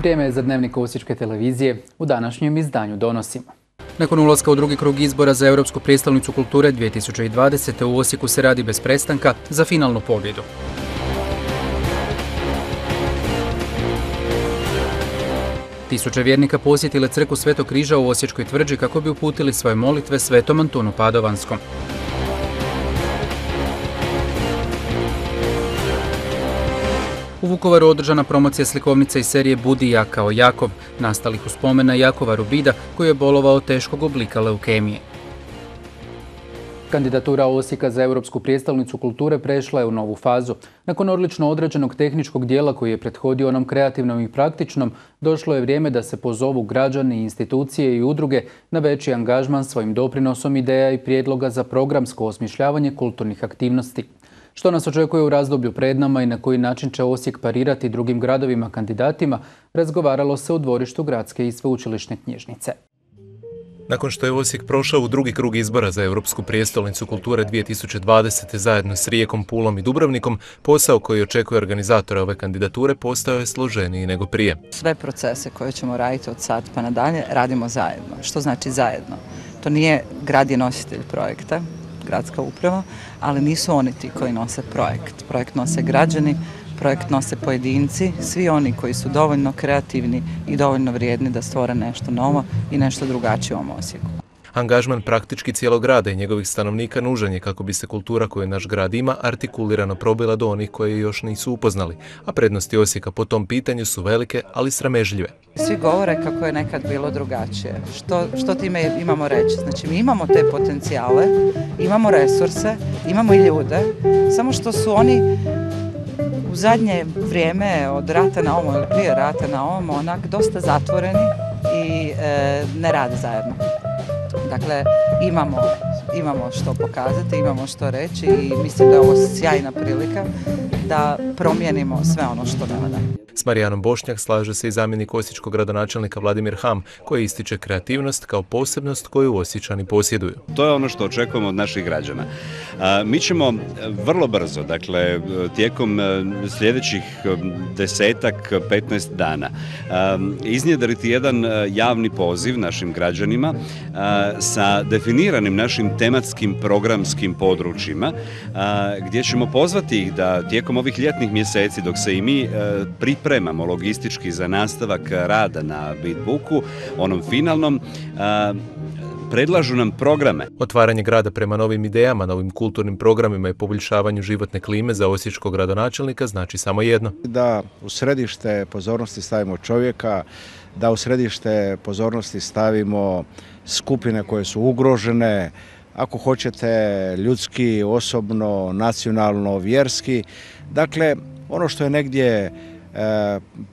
Vrijeme je za dnevnik Osječke televizije. U današnjem izdanju donosimo. Nakon ulaska u drugi krug izbora za Europsku prijestolnicu kulture 2020. u Osijeku se radi bez prestanka za finalnu pobjedu. Tisuće vjernika posjetile crkvu Svetog križa u Osječkoj tvrđi kako bi uputili svoje molitve Svetom Antunu Padovanskom. U Vukovaru održana promocija slikovnice iz serije Budi ja kao Jakov, nastalih u spomen na Jakova Rubida koji je bolovao teškog oblika leukemije. Kandidatura Osijeka za Europsku prijestolnicu kulture prešla je u novu fazu. Nakon odlično odrađenog tehničkog dijela koji je prethodio onom kreativnom i praktičnom, došlo je vrijeme da se pozovu građani, institucije i udruge na veći angažman svojim doprinosom ideja i prijedloga za programsko osmišljavanje kulturnih aktivnosti. Što nas očekuje u razdoblju pred nama i na koji način će Osijek parirati drugim gradovima kandidatima, razgovaralo se u dvorištu Gradske i sveučilišne knjižnice. Nakon što je Osijek prošao u drugi krug izbora za Europsku prijestolnicu kulture 2020. zajedno s Rijekom, Pulom i Dubrovnikom, posao koji očekuje organizatora ove kandidature postao je složeniji nego prije. Sve procese koje ćemo raditi od sad pa nadalje radimo zajedno. Što znači zajedno? To nije grad je nositelj projekta, gradska uprava, ali nisu oni ti koji nose projekt. Projekt nose građani, projekt nose pojedinci, svi oni koji su dovoljno kreativni i dovoljno vrijedni da stvore nešto novo i nešto drugačije u ovom Osijeku. Angažman praktički cijelog grada i njegovih stanovnika nužan je kako bi se kultura koju naš grad ima artikulirano probila do onih koji još nisu upoznali, a prednosti Osijeka po tom pitanju su velike, ali sramežljive. Svi govore kako je nekad bilo drugačije. Što time imamo reći? Znači, mi imamo te potencijale, imamo resurse, imamo i ljude, samo što su oni u zadnje vrijeme od rata na ovom ili prije rata na ovom onak dosta zatvoreni i ne rade zajedno. Dakle, imamo što pokazati, imamo što reći i mislim da je ovo sjajna prilika da promijenimo sve ono što ne valja. S Marijanom Bošnjak slaže se i zamjenik osječkog gradonačelnika Vladimir Ham, koji ističe kreativnost kao posebnost koju Osječani posjeduju. To je ono što očekujemo od naših građana. Mi ćemo vrlo brzo, dakle tijekom sljedećih 10-15 dana, iznjedriti jedan javni poziv našim građanima sa definiranim našim tematskim programskim područjima, gdje ćemo pozvati ih da tijekom ovih ljetnih mjeseci, dok se i mi pripremamo logistički za nastavak rada na Beatbooku, onom finalnom, predlažu nam programe. Otvaranje grada prema novim idejama, novim kulturnim programima i poboljšavanju životne klime za osječkog gradonačelnika znači samo jedno. Da u središte pozornosti stavimo čovjeka, da u središte pozornosti stavimo skupine koje su ugrožene, ako hoćete ljudski, osobno, nacionalno, vjerski. Dakle, ono što je negdje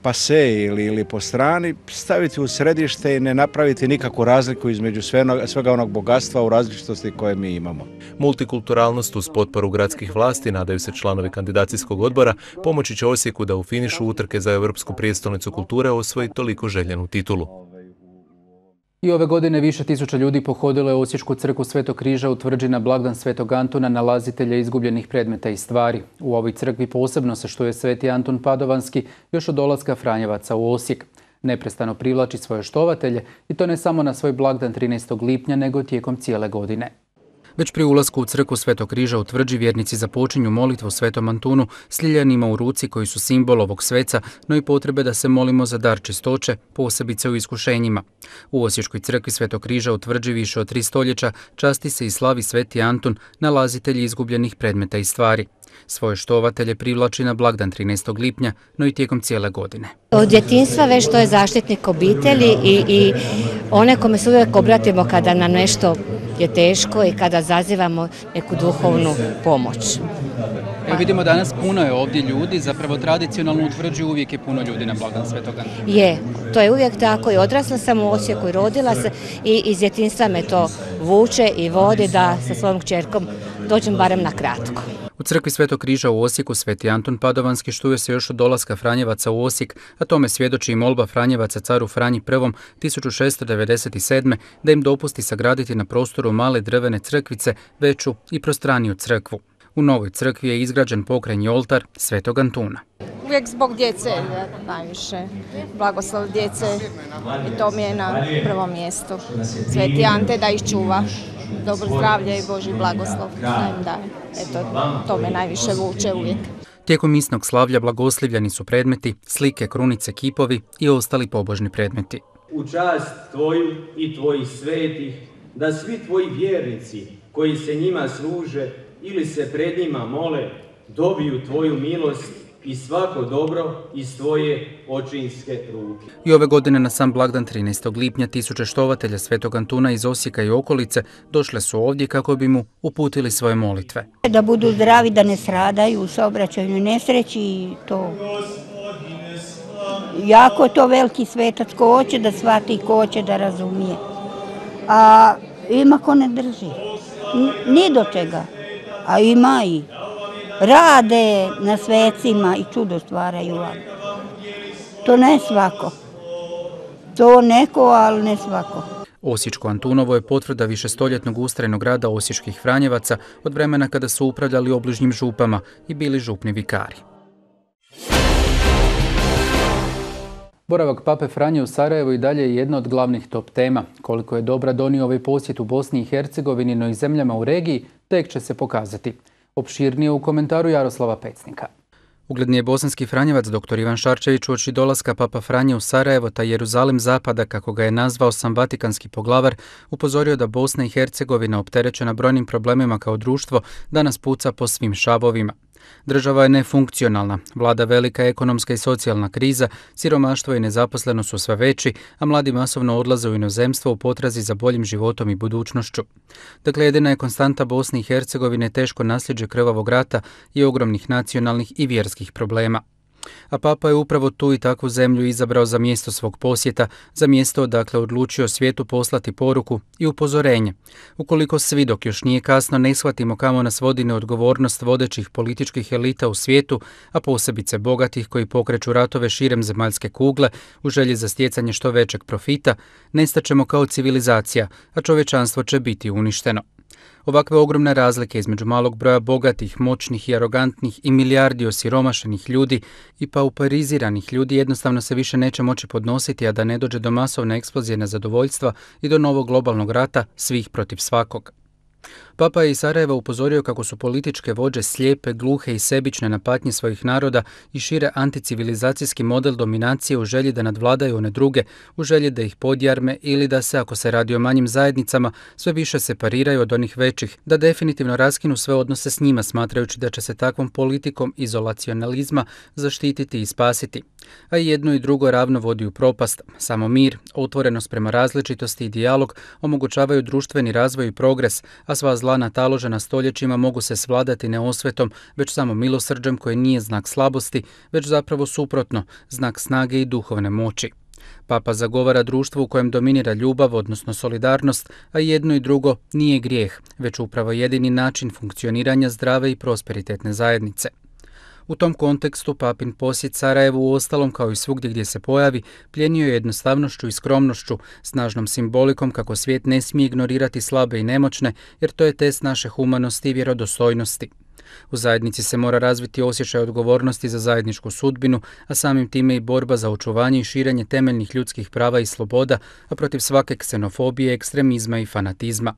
pase ili po strani, staviti u središte i ne napraviti nikakvu razliku između svega onog bogatstva u različitosti koje mi imamo. Multikulturalnost uz potporu gradskih vlasti, nadaju se članovi kandidacijskog odbora, pomoći će Osijeku da u finišu utrke za Europsku prijestolnicu kulture osvoji toliko željenu titulu. I ove godine više tisuća ljudi pohodilo je Osječku crkvu Svetog križa u tvrđi na blagdan Svetog Antuna, nalazitelja izgubljenih predmeta i stvari. U ovoj crkvi posebno se štuje Sveti Antun Padovanski još od dolaska Franjevaca u Osijek. Neprestano privlači svoje štovatelje i to ne samo na svoj blagdan 13. lipnja, nego tijekom cijele godine. Već pri ulasku u crkvu Svetog križa u tvrđi vjernici započinju molitvu Svetom Antunu s ljiljanima u ruci koji su simbol ovog sveca, no i potrebe da se molimo za dar čistoće, posebice u iskušenjima. U Osječkoj crkvi Svetog križa u tvrđi više od 3 stoljeća časti se i slavi Sveti Antun, nalazitelj izgubljenih predmeta i stvari. Svoje štovatelje privlači na blagdan 13. lipnja, no i tijekom cijele godine. Od djetinjstva već to je zaštitnik obitelji i one kome se uvijek obratimo kada nam nešto je teško i kada zazivamo neku duhovnu pomoć. Evo vidimo danas puno je ovdje ljudi, zapravo tradicionalno u tvrđi uvijek je puno ljudi na blagdan Svetog Antuna. Je, to je uvijek tako i odrasla sam u Osijeku i rodila se i iz djetinjstva me to vuče i vodi da sa svojom kćerkom dođem barem na kratko. U crkvi Svetog križa u Osijeku Sveti Antun Padovanski štuje se još od dolaska Franjevaca u Osijek, a tome svjedoči i molba Franjevaca caru Franji I 1697. da im dopusti sagraditi na prostoru male drvene crkvice veću i prostraniju crkvu. U novoj crkvi je izgrađen pokrajnji oltar Svetog Antuna. uvijek zbog djece najviše. Blagoslov djece i to mi je na prvom mjestu. Sveti Ante da ih čuva. Dobro zdravlje i Božji blagoslov da im daje. Eto, to me najviše vuče uvijek. Tijekom misnog slavlja blagoslivljani su predmeti, slike, krunice, kipovi i ostali pobožni predmeti. U čast tvoju i tvojih svetih, da svi tvoji vjernici koji se njima služe ili se pred njima mole, dobiju tvoju milost i svako dobro iz tvoje očinske ruke. I ove godine na sam blagdan 13. lipnja tisuće štovatelja Svetog Antuna iz Osijeka i okolice došle su ovdje kako bi mu uputili svoje molitve. Da budu zdravi, da ne stradaju u saobraćajnoj nesreći i to. Jako je to veliki svetac ko hoće da shvati i ko hoće da razumije. A ima ko ne drži. Ni do čega. A ima i rade na svecima i čudo stvaraju. To ne svako. To neko, ali ne svako. Osječko Antunovo je potvrda višestoljetnog ustrajnog rada osječkih Franjevaca od vremena kada su upravljali obližnjim župama i bili župni vikari. Boravak Pape Franje u Sarajevu i dalje je jedna od glavnih top tema. Koliko je dobra donio ovaj posjet u Bosni i Hercegovini, no i zemljama u regiji, tek će se pokazati. Opširnije u komentaru Jaroslava Pecnika. Ugledni je bosanski Franjevac dr. Ivan Šarčević uoči dolaska Papa Franje u Sarajevo, taj Jeruzalem zapada, kako ga je nazvao sam vatikanski poglavar, upozorio da Bosna i Hercegovina, opterećena brojnim problemima kao društvo, danas puca po svim šavovima. Država je nefunkcionalna, vlada velika ekonomska i socijalna kriza, siromaštvo i nezaposlenost su sve veći, a mladi masovno odlaze u inozemstvo u potrazi za boljim životom i budućnošću. Dakle, jedina je konstanta Bosne i Hercegovine teško nasljeđe krvavog rata i ogromnih nacionalnih i vjerskih problema. A Papa je upravo tu i takvu zemlju izabrao za mjesto svog posjeta, za mjesto odakle odlučio svijetu poslati poruku i upozorenje. Ukoliko svi, dok još nije kasno, ne shvatimo kamo nas vodi neodgovornost vodećih političkih elita u svijetu, a posebice bogatih koji pokreću ratove širem zemaljske kugle u želji za stjecanje što većeg profita, nestaćemo kao civilizacija, a čovječanstvo će biti uništeno. Ovakve ogromne razlike između malog broja bogatih, moćnih i arogantnih i milijardi osiromašenih ljudi i pauperiziranih ljudi jednostavno se više neće moći podnositi, a da ne dođe do masovne eksplozije nezadovoljstva i do novog globalnog rata svih protiv svakog. Papa je iz Sarajeva upozorio kako su političke vođe slijepe, gluhe i sebične na patnje svojih naroda i šire anticivilizacijski model dominacije u želji da nadvladaju one druge, u želji da ih podjarme ili da se, ako se radi o manjim zajednicama, sve više separiraju od onih većih, da definitivno raskinu sve odnose s njima, smatrajući da će se takvom politikom izolacionalizma zaštititi i spasiti. A i jedno i drugo ravno vodi u propast. Samo mir, otvorenost prema različitosti i dijalog omogućavaju društveni razvoj i progres, a sva zla nataložena stoljećima mogu se svladati ne osvetom, već samo milosrđem koje nije znak slabosti, već zapravo suprotno, znak snage i duhovne moći. Papa zagovara društvo u kojem dominira ljubav, odnosno solidarnost, a jedno i drugo nije grijeh, već upravo jedini način funkcioniranja zdrave i prosperitetne zajednice. U tom kontekstu papin posjet Sarajevu uostalom kao i svugdje gdje se pojavi plijenio je jednostavnošću i skromnošću, snažnom simbolikom kako svijet ne smije ignorirati slabe i nemoćne, jer to je test naše humanosti i vjerodostojnosti. U zajednici se mora razviti osjećaj odgovornosti za zajedničku sudbinu, a samim time i borba za očuvanje i širenje temeljnih ljudskih prava i sloboda, a protiv svake ksenofobije, ekstremizma i fanatizma.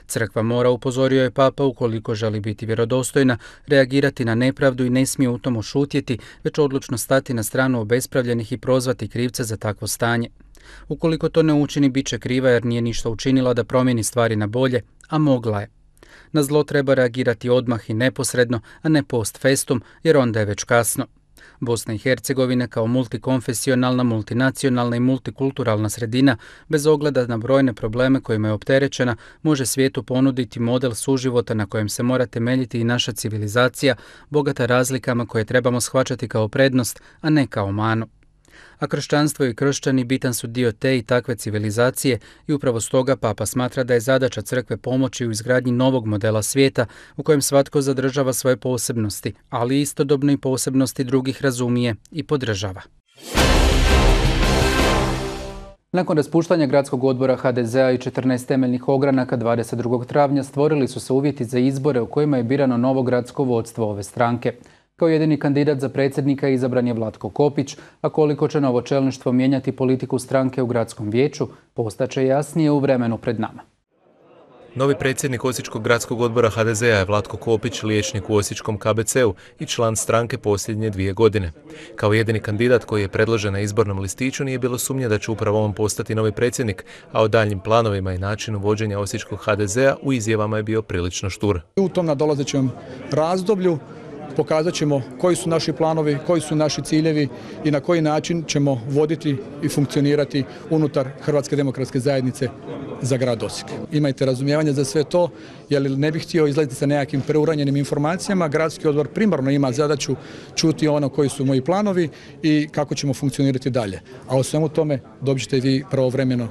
Crkva mora, upozorio je Papa, ukoliko želi biti vjerodostojna, reagirati na nepravdu i ne smije u tomu šutjeti, već odlučno stati na stranu obespravljenih i prozvati krivce za takvo stanje. Ukoliko to ne učini, bit će kriva jer nije ništa učinila da promijeni stvari na bolje, a mogla je. Na zlo treba reagirati odmah i neposredno, a ne post festum, jer onda je već kasno. Bosna i Hercegovina kao multikonfesionalna, multinacionalna i multikulturalna sredina, bez ogleda na brojne probleme kojima je opterećena, može svijetu ponuditi model suživota na kojem se mora temeljiti i naša civilizacija, bogata razlikama koje trebamo shvaćati kao prednost, a ne kao manu. A kršćanstvo i kršćani bitan su dio te i takve civilizacije i upravo stoga Papa smatra da je zadaća crkve pomoći u izgradnji novog modela svijeta u kojem svatko zadržava svoje posebnosti, ali istodobno i posebnosti drugih razumije i podržava. Nakon raspuštanja gradskog odbora HDZ-a i 14 temeljnih ogranaka 22. travnja stvorili su se uvjeti za izbore u kojima je birano novo gradsko vodstvo ove stranke. Kao jedini kandidat za predsjednika izabran je Vlatko Kopić, a koliko će novo čelništvo mijenjati politiku stranke u gradskom vijeću, postaće jasnije u vremenu pred nama. Novi predsjednik Osječkog gradskog odbora HDZ-a je Vlatko Kopić, liječnik u Osječkom KBC-u i član stranke posljednje 2 godine. Kao jedini kandidat koji je predložen na izbornom listiću nije bilo sumnje da će upravo on postati novi predsjednik, a o daljnjim planovima i načinu vođenja Osječkog HDZ-a u izjavama je bio prilično štur. U tom nadolazećem razdoblju pokazat ćemo koji su naši planovi, koji su naši ciljevi i na koji način ćemo voditi i funkcionirati unutar Hrvatske demokratske zajednice za grad Osijek. Imajte razumijevanje za sve to, jer ne bih htio izlaziti sa nekakvim preuranjenim informacijama. Gradski odbor primarno ima zadaću čuti ono koji su moji planovi i kako ćemo funkcionirati dalje. A o svemu tome dobit ćete i vi pravovremeno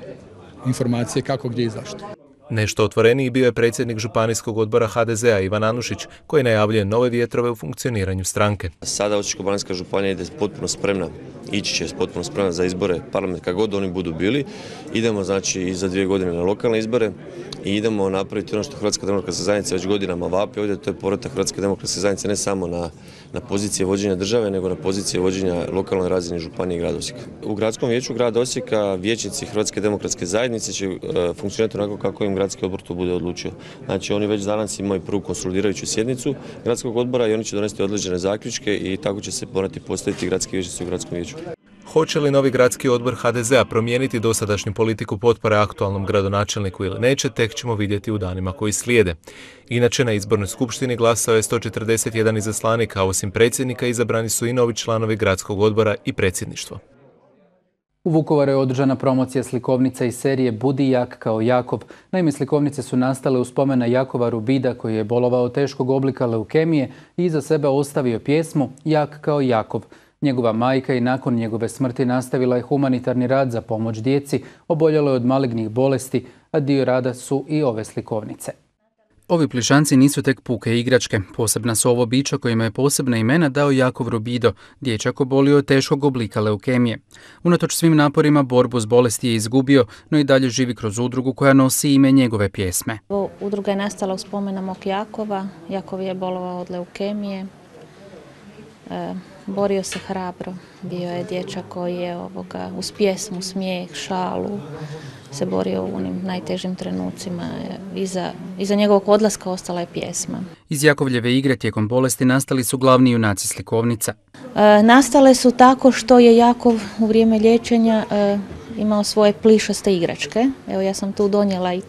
informacije kako, gdje i zašto. Nešto otvoreniji bio je predsjednik Županijskog odbora HDZ-a Ivan Anušić, koji najavljuje nove vjetrove u funkcioniranju stranke. Sada Osječko-baranjska županija ide potpuno spremna, ići će potpuno spremna za izbore parlamenta, kako god oni budu bili. Idemo znači i za 2 godine na lokalne izbore i idemo napraviti ono što Hrvatska demokratska zajednica već godinama vapi ovdje, to je povratak Hrvatske demokratske zajednice ne samo na pozicije vođenja države, nego na pozicije vođenja lokalnoj razini županije i grada Osijeka. U gradskom vijeću grada Osijeka vijećnici Hrvatske demokratske zajednice će funkcionirati onako kako im gradski odbor to bude odlučio. Znači oni već danas imaju prvu konsolidirajuću sjednicu gradskog odbora i oni će donesti određene zaključke i tako će se morati postaviti gradski vijećnici u gradskom vijeću. Hoće li novi gradski odbor HDZ-a promijeniti dosadašnju politiku potpore aktualnom gradonačelniku ili neće, tek ćemo vidjeti u danima koji slijede. Inače, na izbornoj skupštini glasao je 141 izaslanik, a osim predsjednika izabrani su i novi članovi gradskog odbora i predsjedništvo. U Vukovaru je održana promocija slikovnica iz serije Budi jak kao Jakov. Naime, slikovnice su nastale u spomen na Jakova Rubida, koji je bolovao teškog oblika leukemije i iza sebe ostavio pjesmu Jak kao Jakov. Njegova majka i nakon njegove smrti nastavila je humanitarni rad za pomoć djeci oboljeloj od malignih bolesti, a dio rada su i ove slikovnice. Ovi plišanci nisu tek puke igračke. Posebna su ovo bića kojima je posebna imena dao Jakov Rubido, dječak obolio od teškog oblika leukemije. Unatoč svim naporima borbu s bolesti je izgubio, no i dalje živi kroz udrugu koja nosi ime njegove pjesme. Udruga je nastala u spomen na mog Jakova. Jakov je bolovao od leukemije. Borio se hrabro. Bio je dječak koji je uz pjesmu, smijeh, šalu se borio u onim najtežim trenucima. Iza njegovog odlaska ostala je pjesma. Iz Jakovljeve igre tijekom bolesti nastali su glavni junaci slikovnica. Nastale su tako što je Jakov u vrijeme liječenja imao svoje plišaste igračke. Evo, ja sam tu donijela i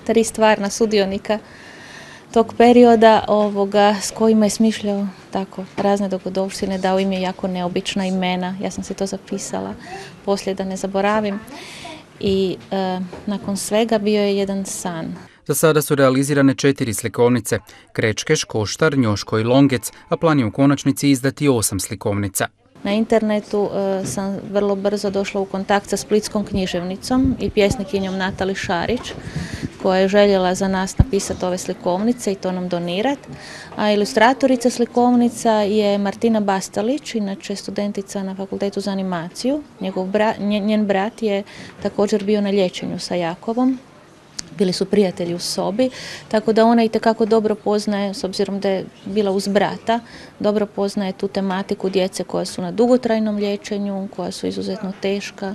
tri stvarna sudionika tog perioda s kojima je smišljao tako razne dogodovštine, dao im je jako neobična imena. Ja sam se to zapisala poslije da ne zaboravim. I nakon svega bio je jedan san. Za sada su realizirane 4 slikovnice, Krečkeš, Koštar, Njoško i Longec, a plan je u konačnici izdati 8 slikovnica. Na internetu sam vrlo brzo došla u kontakt sa splitskom književnicom i pjesnikinjom Natali Šarić, koja je željela za nas napisati ove slikovnice i to nam donirati. A ilustratorica slikovnica je Martina Bastalić, inače studentica na Fakultetu za animaciju. Njen brat je također bio na liječenju sa Jakovom. Bili su prijatelji u sobi, tako da ona itekako dobro poznaje, s obzirom da je bila uz brata, dobro poznaje tu tematiku djece koja su na dugotrajnom liječenju, koja su izuzetno teška,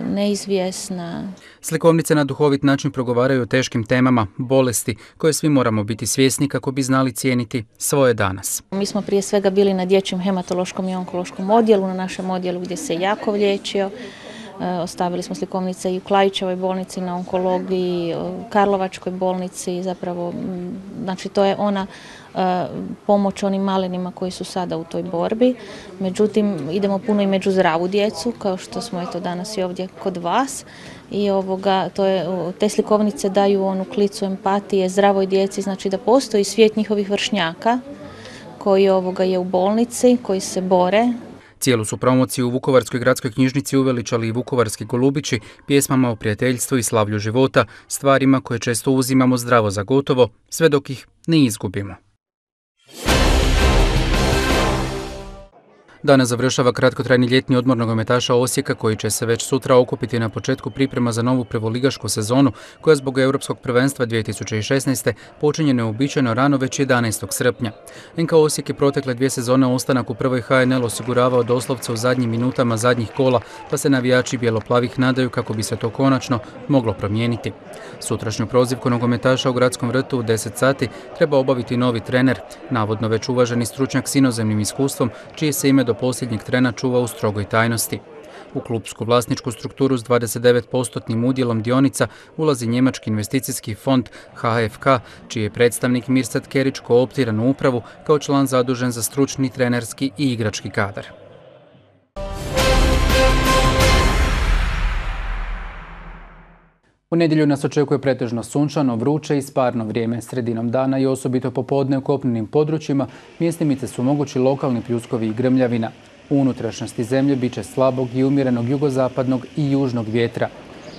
neizvjesna. Slikovnice na duhovit način progovaraju o teškim temama, bolesti, koje svi moramo biti svjesni kako bi znali cijeniti svoje danas. Mi smo prije svega bili na dječjem hematološkom i onkološkom odjelu, na našem odjelu gdje se Jakov liječio. Ostavili smo slikovnice i u Klajićevoj bolnici na onkologiji, Karlovačkoj bolnici, zapravo, znači to je ona pomoć onim malinima koji su sada u toj borbi. Međutim, idemo puno i među zdravu djecu, kao što smo eto danas i ovdje kod vas. I te slikovnice daju onu klicu empatije zdravoj djeci, znači da postoji svijet njihovih vršnjaka koji je u bolnici, koji se bore. Cijelu su promociju u Vukovarskoj gradskoj knjižnici uveličali i vukovarski golubići, pjesmama o prijateljstvu i slavlju života, stvarima koje često uzimamo zdravo za gotovo, sve dok ih ne izgubimo. Danas završava kratkotrajni ljetni odmor nogometaša Osijeka koji će se već sutra okupiti na početku priprema za novu prvoligašku sezonu koja zbog Europskog prvenstva 2016. počinje neuobičajeno rano već 11. srpnja. NK Osijek je protekle 2 sezone ostanak u prvoj HNL osiguravao doslovce u zadnjim minutama zadnjih kola, pa se navijači bijelo-plavih nadaju kako bi se to konačno moglo promijeniti. Sutrašnju prozivku nogometaša u Gradskom vrtu u 10 sati treba obaviti novi trener, navodno već uvaženi stručnjak s inozemnim iskustvom, čije se ime do posljednjeg trena čuva u strogoj tajnosti. U klubsku vlasničku strukturu s 29% udjelom dionica ulazi njemački investicijski fond HFK, čiji je predstavnik Mirsad Kerić kooptiran u upravu kao član zadužen za stručni, trenerski i igrački kadar. U nedjelju nas očekuje pretežno sunčano, vruće i sparno vrijeme. Sredinom dana i osobito popodne u kopnenim područjima mjestimice su mogući lokalni pljuskovi i grmljavina. U unutrašnjosti zemlje bit će slabog i umjerenog jugozapadnog i južnog vjetra.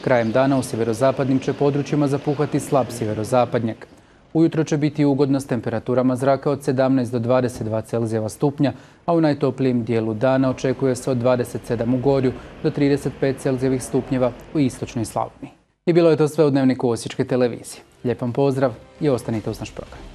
Krajem dana u sjeverozapadnim će područjima zapuhati slab sjeverozapadnjak. Ujutro će biti ugodno s temperaturama zraka od 17 do 22 Celzijeva stupnja, a u najtoplijem dijelu dana očekuje se od 27 u Gorju do 35 Celzijevih stupnjeva u istočnoj Slavoniji. I bilo je to sve u Dnevniku Osječke televizije. Lijep vam pozdrav i ostanite uz naš program.